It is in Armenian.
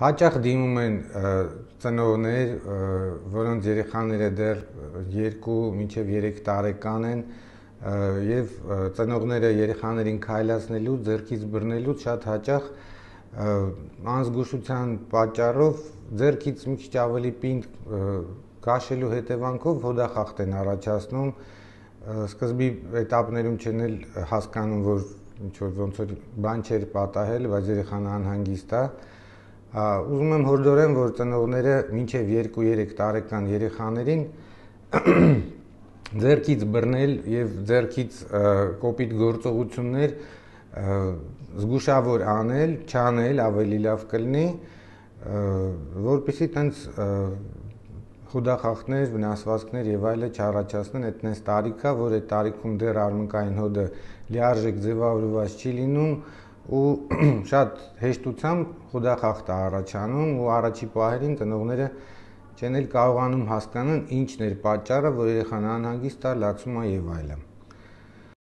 Հաճախ դիմում են ծնողներ, որոնց երեխաները դեռ 2 մինչև 3 տարեկան են եւ ծնողները երեխաներին քայլացնելու, ձեռքից բռնելուց շատ հաճախ անզգուշության պատճառով ձեռքից մի քիչ ավելի պինդ քաշելու հետևանքով հոդախախտ են առաջացնում։ Սկզբի էտապներում չեն էլ հասկանում, որ ինչ-որ ոնց որ բան չէր պատահել, բայց երեխան անհանգիստ է։ Ուզում եմ հորդորեմ, որ ծնողները մինչև 2-3 տարեկան երեխաներին ձեռքից բռնել եւ ձեռքից կոպիտ գործողություններ զգուշավոր անել, չանել ավելի լավ կլինի, որպեսզի տենց խուդախախտներ, վնասվածքներ եւ այլը չառաջացնեն։ Այդ նես տարիք է, որ այդ տարիքում դեռ արմունկային հոդը լիարժեք ձևավորված չի լինում ու շատ հեշտությամբ խուդախախտ է առաջանում ու առաջի պահերին ծնողները չեն էլ կարողանում հասկանալ ինչն էր պատճառը, որ երեխան անհանգիստ է, լացում է եւ այլն։